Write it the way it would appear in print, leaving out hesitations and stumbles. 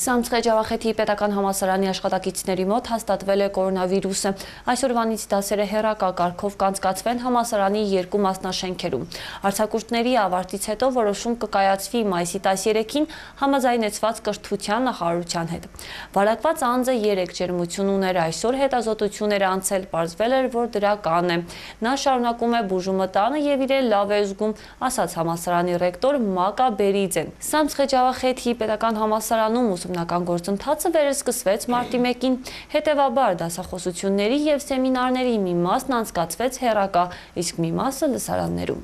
Սամցղեջավախեթի պետական համալսարանի աշխատակիցների մոտ հաստատվել է կորոնավիրուսը։ Այսօրվանից դասերը հեռակա կարգով կանցկացվեն համալսարանի երկու մասնաշենքերում։ Արձակուրդների ավարտից հետո որոշում կկայացվի մայիսի 13-ին համաձայնեցված կրթության նախարարության հետ։ Վարակված անձը 3 ջերմություն ուներ, այսօր հետազոտություն էր անցել, պարզվել էր, որ դրական է։ Նա շարունակում է բուժումը տանը եւ իրեն լավ է զգում, ասաց համալսարանի ռեկտոր Մակա Բերիձեն։ Սամցղեջավախեթի պետական համալսարանում ուսումնական գործընթացը վերսկսվեց մարտի 1-ին, հետևաբար դասախոսությունների և սեմինարների մի մասն անցկացվեց հեռակա, իսկ մի մասը լսարաններում։